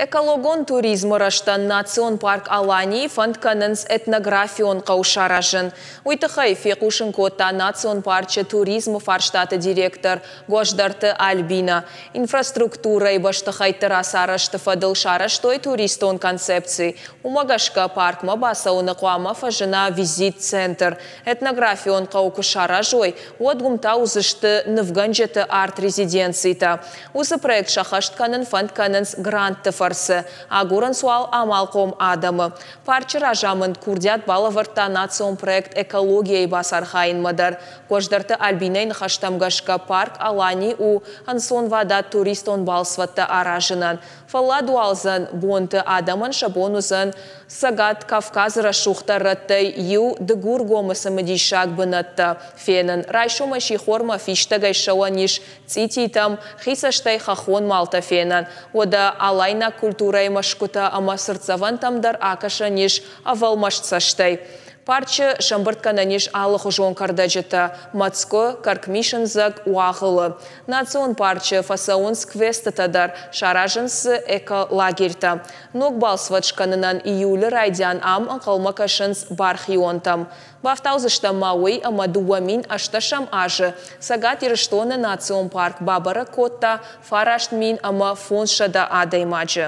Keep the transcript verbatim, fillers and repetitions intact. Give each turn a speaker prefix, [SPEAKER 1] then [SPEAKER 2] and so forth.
[SPEAKER 1] Экологон туризмы рӕзтӕн национ парк Аланийы фӕнд кӕнынц этнографион хъӕу саразын. Уый тыххӕй фехъусын кодта национ парчы туризмы фарстаты директор Гуӕздӕрты Альбинӕ. Инфраструктурӕйы бӕстыхӕйтты рацарӕзты фӕдыл сарӕзтой туристон концепци. Уымӕ гӕсгӕ паркмӕ бацӕуыны хъуамӕ фӕзына визит-центр. Этнографион хъӕу куы саразой, уӕд уым та уыдзысты нывгӕнджыты арт-резиденцитӕ. Уыцы проект сӕххӕст кӕнын фӕнд кӕнынц грантты фӕрцы. Агурынц уал амалхъом адӕмы. Парчы разамынд курдиат балӕвӕрдта национ проект «Экология-йы бацархайынмӕ дӕр. Гуӕздӕрты Альбинӕйы ныхӕстӕм гӕсгӕ парк Алани у ӕнцонвадат туристон балцвӕдтӕ аразынӕн. Фӕлладуадзӕн бонты адӕмӕн сӕ бон уыдзӕн Цӕгат Кавказы рӕсугъддӕр рӕттӕй иу Дыгургомы цымыдисаг бынӕттӕ фенын. Райсомӕй сихормӕ фистӕгӕй ссӕуӕн ис цъититӕм, хи цӕстӕй хӕххон малтӕ фенӕн. Уӕдӕ алайнаг культурӕйы мӕсгуытӕ ӕмӕ цыртдзӕвӕнтӕм дӕр акӕсӕн ис ӕвӕлмаст цӕстӕй. Парчы сӕмбырд кӕнӕн ис алыхуызон кӕрдӕджытӕ, мӕцкъуы, кӕркмисындзӕг, уагъылы. Национ парчы фӕцӕуынц квестытӕ дӕр, саразынц дзы эколагерьтӕ. Ног балцвӕд скӕнынӕн июлы райдиан ам ӕнхъӕлмӕ кӕсынц бархионтӕм. Бафтаудзыстӕм ма уый, ӕмӕ дыууӕ мин ӕстдӕсӕм азы Цӕгат Ирыстоны национ парк бабӕрӕг кодта фараст мин ӕмӕ фондзсӕдӕ адӕймаджы.